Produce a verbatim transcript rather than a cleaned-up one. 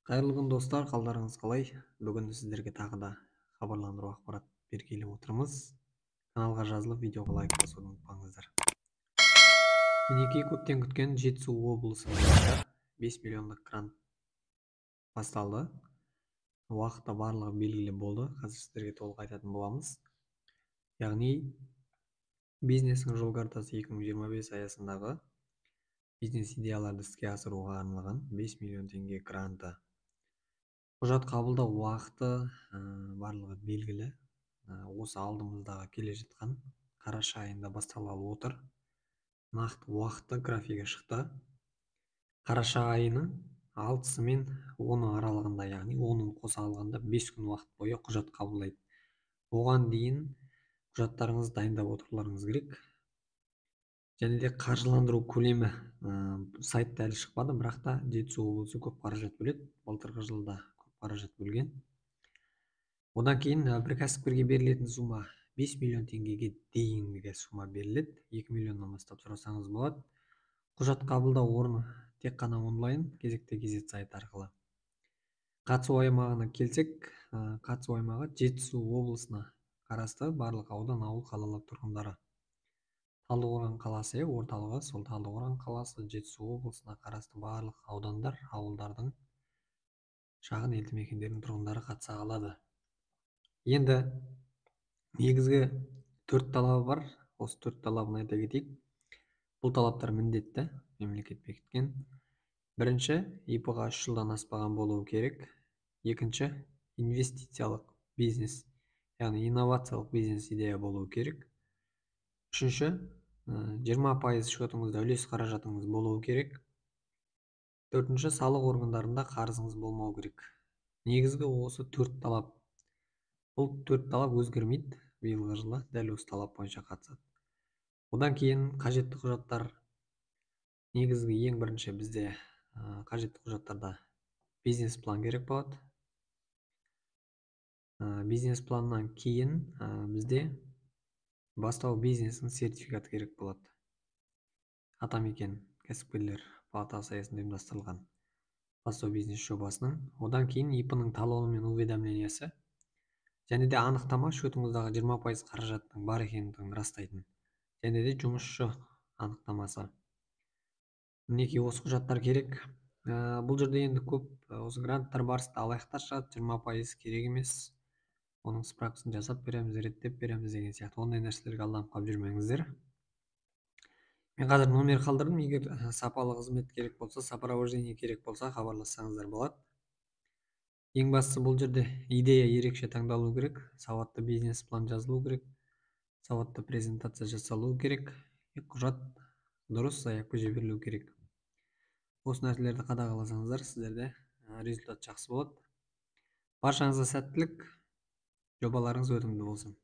Қайырлы күн достар, қалдарыңыз қалай? Бүгін сіздерге тағы да хабарландыру ақпарат бергелі отырмыз. Каналға жазылып, видеоға лайк басуды ұмытпаңыздар. Мінекей көптен күткен Жетісу облысы бойынша бес миллиондық грант басталды. Уақыты барлығы белгілі болды. Қазір сіздерге толық айтатын боламыз. Яғни бизнестің жол картасы екі мың жиырма бес аясындағы бизнес идеяларды іске асыруға арналған бес миллион теңге гранты. Құжат қабылдау уақыты барлығы белгілі. Осы алдымыздағы келе жатқан қараша айында басталғалы отыр. Нақты уақыты графигі шықты. Қараша айының алтысы мен оны аралығында, яғни онын қоса алғанда бес күн уақыт бойы құжат қабылдайды. Оған дейін құжаттарыңызды дайындап отыруларыңыз керек. Және де қаржыландыру көлемі сайтта әлі шықпады, бірақ та Жетісу облысы көп қаражат бөледі. Былтырғы жылда көп қаражат бөлген. Одан кейін бір кәсіпкерге берілетін сума бес миллион теңгеге дейінгі сума беріледі. екі миллионнан бастап сұрасаңыз болады. Құжат қабылдау орны тек қана онлайн, кезекте кезет сайт арқылы. Қатысу аймағына келсек, қатысу аймағы Жетісу облысына қарасты барлық аудан, ауыл, қалалар тұрғындары. Талдықорған қаласы орталығы, сол Талдықорған қаласы Жетісу облысына қарасты барлық аудандар, ауылдардың, шағын елді мекендердің тұрғындары қатыса алады. Енді негізгі төрт талабы бар. Осы төрт талабын айта кетейік. Бұл талаптар міндетті, мемлекет бекіткен. Бірінші, И П-ға үш жылдан аспаған болуы керек. Екінші, инвестициялық бизнес, яғни инновациялық бизнес идея болуы керек. Үшінші, жиырма пайыз шотыңызда үлес қаражатыңыз болуы керек. Төртінші, салық органдарында қарызыңыз болмау керек. Негізгі осы төрт талап. Бұл төрт талап өзгермейді. Биылғы жылы дәл осы талап бойынша қатысады. Одан кейін қажетті құжаттар. Негізгі ең бірінші бізде қажетті құжаттарда бизнес план керек болады. Бизнес планнан кейін бізде бастау бизнесінің сертификаты керек болады. Атамекен кәсіпкерлер палатасы аясында ұйымдастырылған бастау бизнес жобасының. Одан кейін И П-ның талоны мен уведомлениясы, және де анықтама шотыңыздағы жиырма пайыз қаражаттың бар екендігін растайтын, және де жұмысшы анықтамасы. Мінекей осы құжаттар керек. Бұл жерде енді көп осы гранттар барысында алаяқтар шығады, жиырма пайыз керек емес. Оның справкасын жасап береміз, реттеп береміз деген сияқты. Ондай нәрселерге алданып қалып жүрмеңіздер. Мен қазір номер қалдырдым. Егер сапалы қызмет керек болса, сопровождение керек болса, хабарлассаңыздар болады. Ең бастысы бұл жерде идея ерекше таңдалу керек, сауатты бизнес план жазылу керек, сауатты презентация жасалу керек, құжат дұрыс аяқпен жіберілу керек. Осы нәрселерді қадағаласаңыздар, сіздерде результат жақсы болады. Баршаңызға сәттілік, жобаларыңыз өтімді болсын.